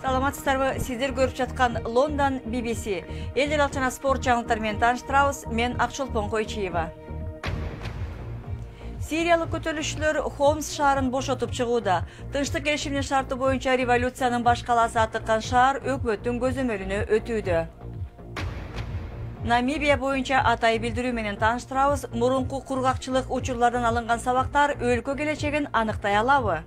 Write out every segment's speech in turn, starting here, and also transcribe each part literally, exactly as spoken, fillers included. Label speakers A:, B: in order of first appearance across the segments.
A: Саламатсыздарбы, сиздер көрүп жаткан Лондон би би си. Эл аралык жана спорт жаңылыктары менен тааныштырабыз. Мен Акчолпон Койчиева. Сириялык көтөрүлүшчүлөр Хомс шаарын бошотуп чыгууда. Тынчтык келишиминин шарты боюнча революциянын баш калаасы атыккан шаар өкмөттүн көзөмөлүнө өтүүдө. Намибия боюнча атай билдирүү менен тааныштырабыз. Мурунку кургакчылык учурлардан алынган сабактар өлкө келечегин аныктай алабы?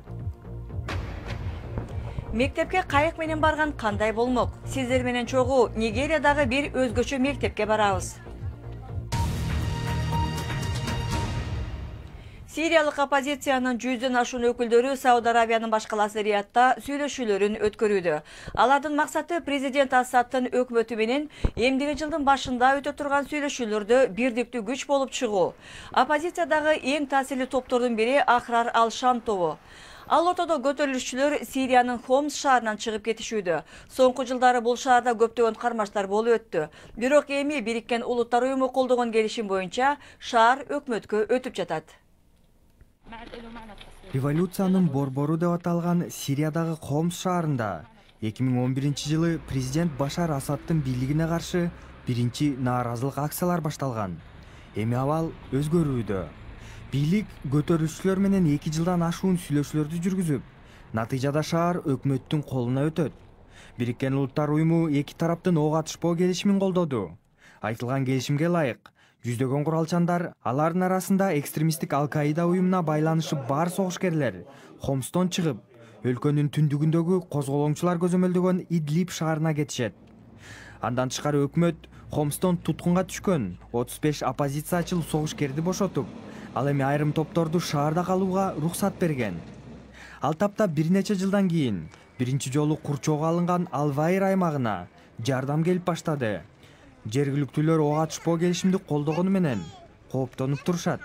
A: Мектепке кайык менен барган кандай болмок? Сиздер менен чогуу Нигериядагы бир өзгөчө мектепке барабыз. Сириялык оппозициянын жүздөн ашуун өкүлдөрү Сауд Арабиянын баш калаасы Риядта сүйлөшүүлөрүн өткөрүүдө. Алардын максаты президент Асадтын өкмөтү менен эмдиги жылдын башында өтө турган сүйлөшүүлөрдө бирдиктүү күч болуп чыгуу. Оппозициядагы эң таасирлүү топтордун бири Ахрар ал-Шам тобу. Ал ортодо көтөрүлүшчүлөр Сириянын Хомс шаарынан чыгып кетишүүдө. Соңку жылдары бул шаарда көптөгөн кармаштар болуп өттү. Бирок эми Бириккен Улуттар уюму колдогон келишим боюнча шаар өкмөткө өтүп жатат.
B: Революциянын борбору деп аталган Сириядагы Хомс шаарында эки миң он биринчи жылы президент Башар Асадтын бийлигине каршы биринчи нааразылык акциялар башталган. Эми абал өзгөрүүдө. Бийлик көтөрүлүшчүлөр менен эки жылдан ашуун сүйлөшүүлөрдү жүргүзүп, натыйжада шаар өкмөттүн колуна өтөт. Бириккен Улуттар уюму эки тараптын ок атышпоо келишимин колдоду. Айтылган келишимге ылайык, жүздөгөн куралчандар, алардын арасында экстремисттик Ал-Каида уюмуна байланышы бар согушкерлер Хомстон чыгып, өлкөнүн түндүгүндөгү козголоңчулар көзөмөлдөгөн Идлиб шаарына кетишет. Андан тышкары өкмөт Хомстон туткунга түшкөн отуз беш оппозициячыл согушкерди бошотуп, ал эми айрым топторду шаарда калууга уруксат берген. Ал тапта бир нече жылдан кийин биринчи жолу курчоого алынган Ал-Вайр аймагына жардам келип баштады. Жергиликтүүлөр ок атышпоо келишимди колдогону менен кооптонуп турушат.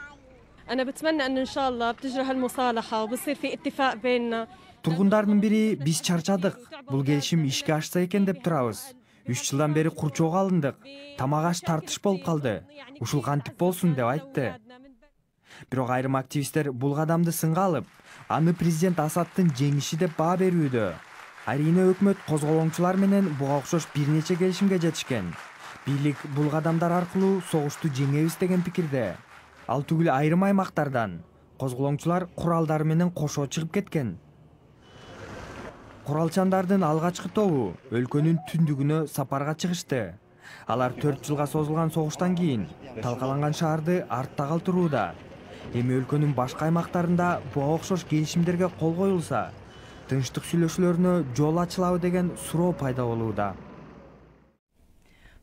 B: Тургундардын бири биз чарчадык, бул келишим ишке ашса экен деп турабыз. үч жылдан бери курчоого алындык, тамак аш тартыш болуп калды. Ушул кантип болсун деп айтты. Бирок айрым активисттер бул кадамды сынга алып, аны президент Асадтын жеңиши деп баа берүүдө. Арийне өкмөт козголоңчулар менен буга окшош бир нече келишимге жетишкен. Бийлик бул кадамдар аркылуу согушту жеңебиз деген пикирде. Ал түгүл айрым аймактардан козголоңчулар куралдары менен кошо чыгып кеткен. Куралчандардын алгачкы тобу өлкөнүн түндүгүнө сапарга чыгышты. Алар төрт жылга созулган согуштан кийин талкаланган шаарды артта калтырууда. Эми өлкөнүн башка аймактарында буга окшош келишимдерге кол коюлса, тынчтык сүйлөшүүлөрүнө жол ачылабы деген суроо пайда болууда.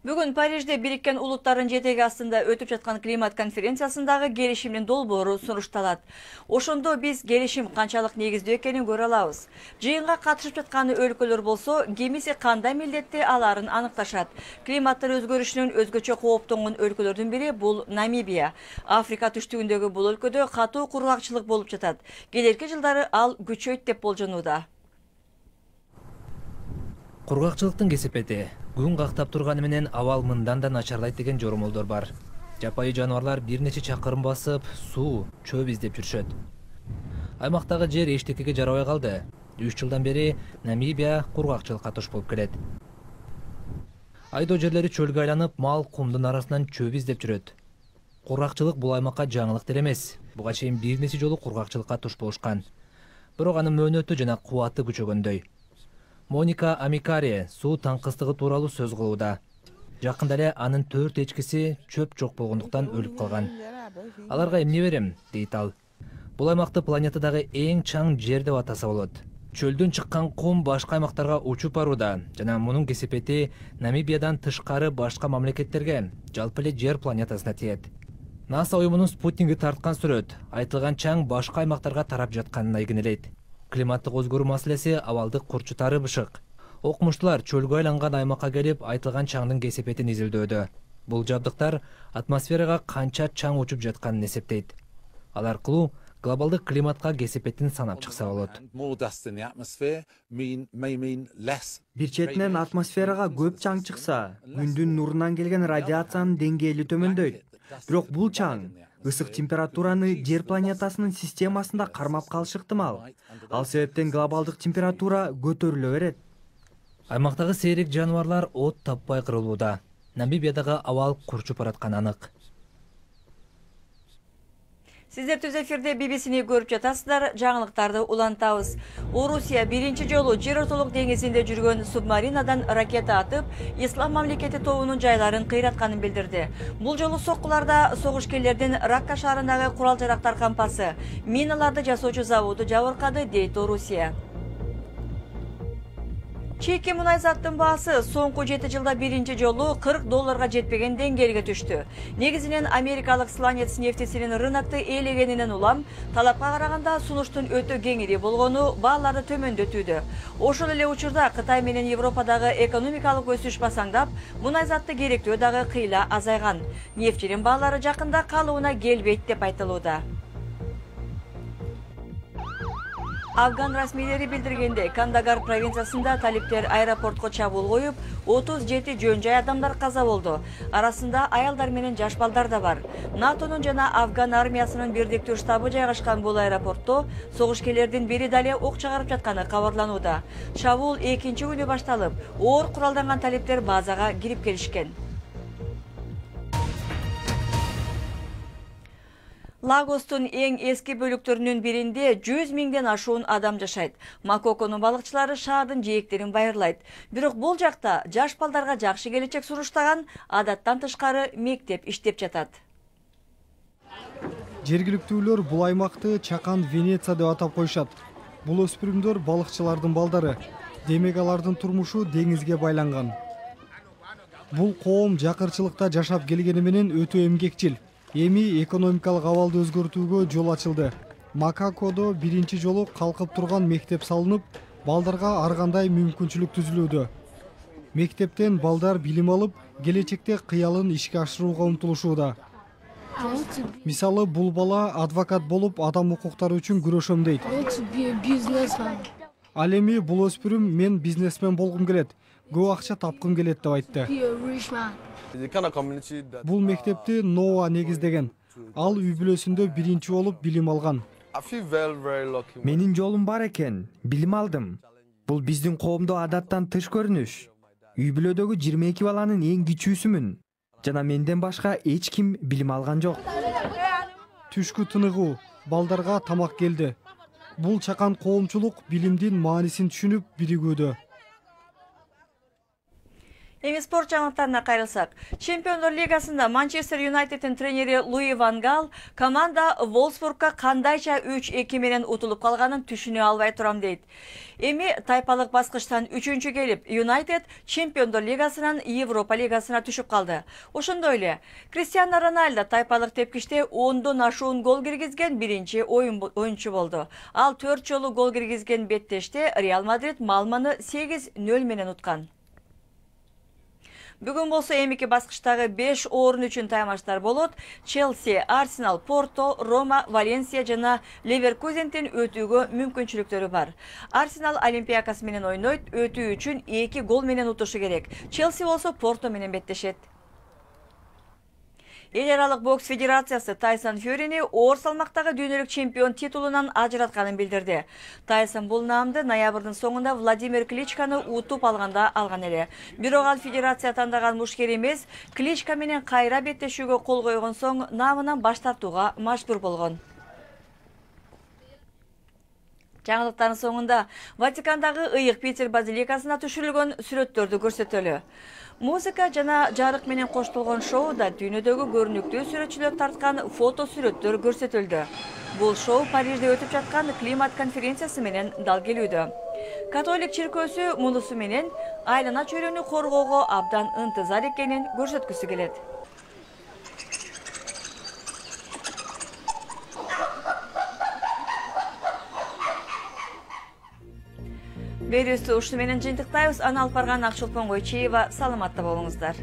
A: Бүгүн Парижде Бириккен Улуттардын жетеги астында өтүп жаткан климат конференциясындагы келишимдин долбоору сурушталат. Ошондо биз келишим канчалык негиздүү экенин көрө алабыз. Жыйынга катышып жаткан өлкөлөр болсо, кимиси кандай милдетти аларын аныкташат. Климаттын өзгөрүшүнөн өзгөчө кооптонгон өлкөлөрдүн бири бул Намибия. Африка түштүгүндөгү бул өлкөдө катуу кургакчылык болуп жатат. Келерки жылдары ал күчөйт деп болжонууда.
C: Кургакчылыктын кесепети күн кактап турганы менен абал мындан да начарлайт деген жоромолдор бар. Жапайы жаныбарлар бир нече чакырым басып, суу, чөп издеп жүрүшөт. Аймактагы жер эчтекеге жарабай калды. үч жылдан бери Намибия кургакчылыкка туш болуп келет. Айдоо жерлери чөлгө айланып, мал кумдун арасынан чөп издеп жүрөт. Кургакчылык бул аймакка жаңылык деле эмес. Буга чейин бир нече жолу кургакчылыкка туш болушкан. Бирок анын мөөнөтү жана кубаты күчөгөндөй. Моника Амикари суу таңкыстыгы тууралуу сөз кылууда. Жакында эле анын төрт эчкиси чөп жок болгондуктан өлүп калган. Аларга эмне берем, дейт ал. Бул аймакты планетадагы эң чаң жер деп атаса болот. Чөлдөн чыккан кум башка аймактарга учуп барууда жана мунун кесепети Намибиядан тышкары башка мамлекеттерге, жалпы эле жер планетасына тиет. НАСА уюмунун спутниги тарткан сүрөт айтылган чаң башка аймактарга тарап жатканын айгинелейт. Климаттык өзгөрүү маселеси абалды курчутары бышык. Окумуштуулар чөлгө айланган аймакка келип айтылган чаңдын кесепетин изилдөөдө. Бул жабдыктар атмосферага канча чаң учуп жатканын эсептейт. Ал аркылуу глобалдык климатка кесепетин санап чыкса болот.
B: Бир четинен атмосферага көп чаң чыкса, күндүн нурунан келген радиациянын деңгээли төмөндөйт. Бирок бул чаң ысык температураны жер планетасынын системасында кармап калышы ыктымал. Ал себептен глобалдык температура көтөрүлө берет.
C: Аймактагы сейрек жаныбарлар от таппай кырылууда. Намибиядагы абал курчуп баратканы анык.
A: Сиздер түз эфирде би би сини көрүп жатасыздар. Жаңылыктарды улантабыз. Орусия биринчи жолу жер ортолук деңизинде жүргөн субмаринадан ракета атып, Ислам мамлекети тобунун жайларын кыйратканын билдирди. Бул жолу соккуларда согушкерлердин Ракка шаарындагы курал-жарактар кампасы, миналарды жасоочу заводу жабыркады, дейт Орусия. Чийки мунай заттын баасы соңку жети жылда биринчи жолу кырк долларга жетпеген деңгээлге түштү. Негизинен америкалык сланец нефтисинин рынокты ээлегенинен улам, талапка караганда сунуштун өтө кеңири болгону бааларды төмөндөтүүдө. Ошол эле учурда Кытай менен Европадагы экономикалык өсүш басаңдап, мунай затты керектөө дагы кыйла азайган. Нефтинин баалары жакында калыбына келбейт деп айтылууда. Афган расмийлери билдиргенде, Кандагар провинциясында талиптер аэропортко чабуул коюп, отуз жети жөн жай адамдар каза болду. Арасында аялдар менен жаш балдар да бар. НАТОнун жана Афган армиясынын бирдиктүү штабы жайгашкан бул аэропортто согушкерлердин бири дале ок чыгарып жатканы кабарланууда. Чабуул экинчи күнү башталып, оор куралданган талиптер базага кирип келишкен. Лагостун эң эски бөлүктөрүнүн биринде жүз миңден ашуун адам жашайт. Макоконун балыкчылары шаардын жээктерин байырлайт. Бирок бул жакта жаш балдарга жакшы келечек суруштаган, адаттан тышкары мектеп иштеп жатат.
D: Жергиликтүүлөр бул аймакты Чакан Венеция деп атап коюшат. Бул өспүрүмдөр балыкчылардын балдары. Демек алардын турмушу деңизге байланган. Бул коом жакырчылыкта жашап келгени менен өтө эмгекчил. Эми экономикалык абалды өзгөртүүгө жол ачылды. Макакодо биринчи жолу калкып турган мектеп салынып, балдарга ар кандай мүмкүнчүлүк түзүлүүдө. Мектептен балдар билим алып, келечекте кыялын ишке ашырууга умтулушууда. Мисалы, бул бала адвокат болуп, адам укуктары үчүн күрөшөм дейт. Ал эми бул өспүрүм мен бизнесмен болгум келет, көп акча тапкым келет деп айтты. Бул мектепти Ноа негиздеген. Ал үй бүлөсүндө биринчи болуп билим алган.
B: Менин жолум бар экен, билим алдым. Бул биздин коомдо адаттан тыш көрүнүш. Үй бүлөдөгү жыйырма эки баланын эң кичүүсүмүн. Жана менден башка эч ким билим алган жок.
D: Түшкү тыныгуу, балдарга тамак келди. Бул чакан коомчулук билимдин маанисин түшүнүп биригүүдө.
A: Эми спорт жаңылыктарына кайрылсак. Чемпиондор лигасында Манчестер Юнайтеддин тренери Луи Ван Гал команда Волсбургка кандайча үч эки менен утулуп калганын түшүнө албай турам дейт. Эми тайпалык баскычтан үчүнчү келип, Юнайтед Чемпиондор лигасынан Европа лигасына түшүп калды. Ошондой эле Криштиану Роналдо тайпалык тепкичте ондон ашуун гол киргизген биринчи оюнчу болду. Ал төрт жолу гол киргизген беттеште Реал Мадрид Малманы сегиз нөл менен уткан. Бүгүн болсо эмики баскычтагы беш орун үчүн таймаштар болот. Челси, Арсенал, Порто, Рома, Валенсия жана Ливеркузендин өтүүгө мүмкүнчүлүктөрү бар. Арсенал Олимпиакос менен ойнойт, өтүү үчүн эки гол менен утушу керек. Челси болсо Порто менен беттешет. Эл аралык бокс федерациясы Тайсон Фьюрини оор салмактагы дүйнөлүк чемпион титулунан ажыратканын билдирди. Тайсон бул наамды ноябрдын соңунда Владимир Кличканы утуп алганда алган эле. Бирок ал федерация тандаган мушкер эмес, Кличка менен кайра беттешүүгө кол койгон соң наамынан баш тартууга мажбур болгон. Жаңылыктардын соңунда Ватикандагы ыйык Питер базиликасына түшүрүлгөн сүрөттөрдү көрсөтөлү. Музыка жана жарык менен коштолгон шоуда дүйнөдөгү көрүнүктүү сүрөтчүлөр тарткан фото сүрөттөр көрсөтүлдү. Бул шоу Парижде өтүп жаткан климат конференциясы менен дал келүүдө. Католик чиркөөсү мунусу менен айлана чөйрөнү коргоого абдан ынтызар экенин көрсөткүсү келет. Берүүбүздү ушуну менен жыйынтыктайбыз. Аны алып барган Акчолпон Койчиева. Саламатта болуңуздар.